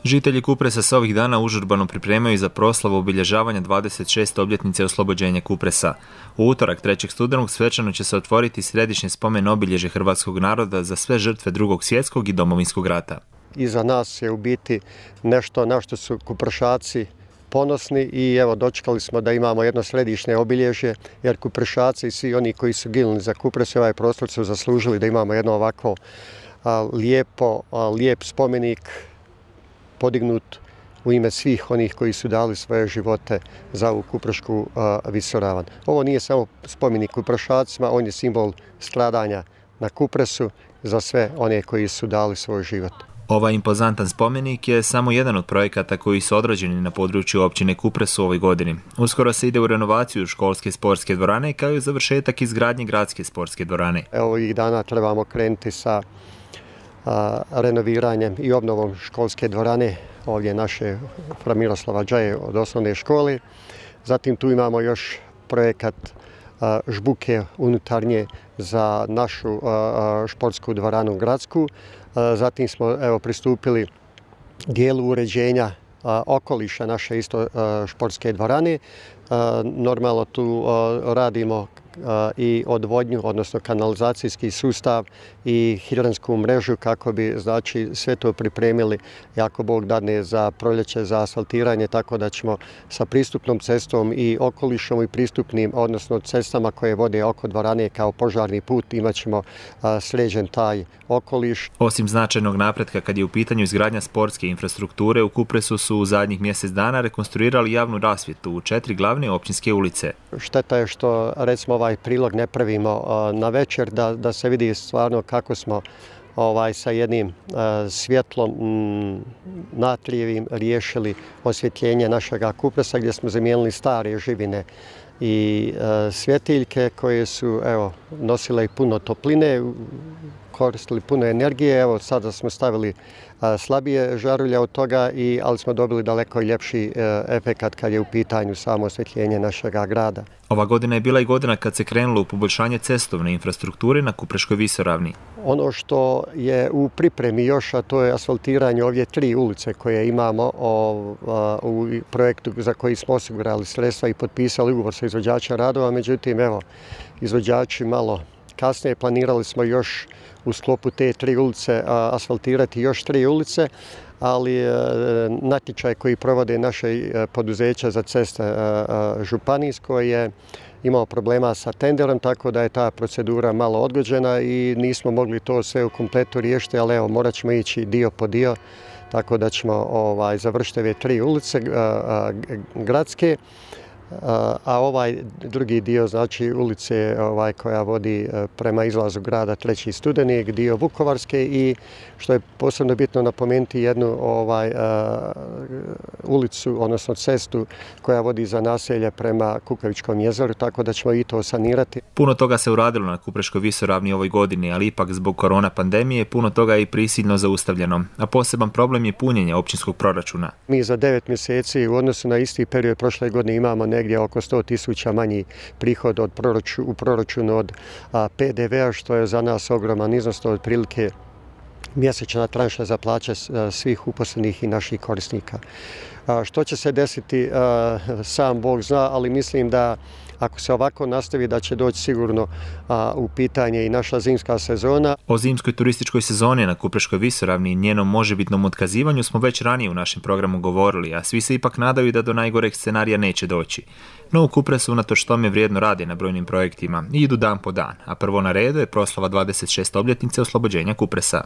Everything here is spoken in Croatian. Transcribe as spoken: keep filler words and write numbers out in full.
Žitelji Kupresa se ovih dana užurbano pripremaju za proslavu obilježavanja dvadeset šeste obljetnice oslobođenja Kupresa. U utorak trećeg studenog svečano će se otvoriti središnje spomen obilježje hrvatskog naroda za sve žrtve Drugog svjetskog i Domovinskog rata. Iza nas je u biti nešto na što su Kuprešaci ponosni i evo dočekali smo da imamo jedno središnje obilježje, jer Kuprešaci i svi oni koji su ginuli za Kupres i ovaj prostor su zaslužili da imamo jedno ovako a, lijepo, a, lijep spomenik podignut u ime svih onih koji su dali svoje živote za ovu Kuprešku a, visoravan. Ovo nije samo spomenik Kuprešacima, on je simbol stradanja na Kupresu za sve one koji su dali svoj život. Ovaj impozantan spomenik je samo jedan od projekata koji su odrađeni na području općine Kupres u ovoj godini. Uskoro se ide u renovaciju školske sportske dvorane kao i završetak izgradnje gradske sportske dvorane. Evo ovih dana trebamo krenuti sa a, renoviranjem i obnovom školske dvorane ovdje naše fra Miroslava Džaje od osnovne škole. Zatim tu imamo još projekat a, žbuke unutarnje za našu a, a, športsku dvoranu gradsku. Zatim smo evo, pristupili dijelu uređenja a, okoliša naše isto a, športske dvorane. A, normalno tu a, radimo a, i odvodnju, odnosno kanalizacijski sustav i hidransku mrežu kako bi znači, sve to pripremili, jako Bog dadne, za proljeće, za asfaltiranje, tako da ćemo sa pristupnom cestom i okolišom i pristupnim, odnosno cestama koje vode oko dvorane kao požarni put, imat ćemo a, sređen taj okoliš. Osim značajnog napretka kad je u pitanju izgradnja sportske infrastrukture, u Kupresu su u zadnjih mjesec dana rekonstruirali javnu rasvjetu u četiri glavne općinske ulice. Šteta je što recimo ovaj prilog ne pravimo na večer da, da se vidi stvarno kako smo ovaj, sa jednim uh, svjetlom mm, natrijevim riješili osvjetljenje našeg Kupresa gdje smo zamijenili stare živine i uh, svjetiljke koje su evo, nosile i puno topline, koristili puno energije. Evo sada smo stavili a, slabije žarulje od toga, i, ali smo dobili daleko ljepši e, efekat kad je u pitanju samo osvjetljenje našeg grada. Ova godina je bila i godina kad se krenulo u poboljšanje cestovne infrastrukture na Kupreškoj visoravni. Ono što je u pripremi još, a to je asfaltiranje ovdje tri ulice koje imamo o, a, u projektu za koji smo osigurali sredstva i potpisali ugovor sa izvođačem radova. Međutim, evo, izvođači malo kasnije planirali smo još u sklopu te tri ulice a, asfaltirati još tri ulice, ali e, natječaj koji provode naše e, poduzeća za ceste e, e, županijsko je imao problema sa tenderom, tako da je ta procedura malo odgođena i nismo mogli to sve u kompletu riješiti, ali evo, morat ćemo ići dio po dio, tako da ćemo ovaj, završiti ove tri ulice a, a, gradske. A ovaj drugi dio, znači ulice ovaj, koja vodi prema izlazu grada treći studeni, dio Vukovarske, i što je posebno bitno napomenuti jednu ovaj, uh, ulicu, odnosno cestu koja vodi za naselje prema Kukavičkom jezeru, tako da ćemo i to sanirati. Puno toga se uradilo na Kupreškoj visoravni ovoj godini, ali ipak zbog korona pandemije puno toga je i prisilno zaustavljeno, a poseban problem je punjenje općinskog proračuna. Mi za devet mjeseci u odnosu na isti period prošle godine imamo negdje oko sto tisuća manji prihod od proraču, u proračunu od a, P D V-a, što je za nas ogroman iznos, to je otprilike mjesečna tranša za plaće a, svih uposlenih i naših korisnika. A, što će se desiti, a, sam Bog zna, ali mislim da ako se ovako nastavi da će doći sigurno a, u pitanje i naša zimska sezona. O zimskoj turističkoj sezoni na Kupreškoj visoravni i njenom možebitnom otkazivanju smo već ranije u našem programu govorili, a svi se ipak nadaju da do najgoreg scenarija neće doći. No u Kupresu unatoč tome vrijedno rade na brojnim projektima i idu dan po dan, a prvo na redu je proslava dvadeset šeste obljetnice oslobođenja Kupresa.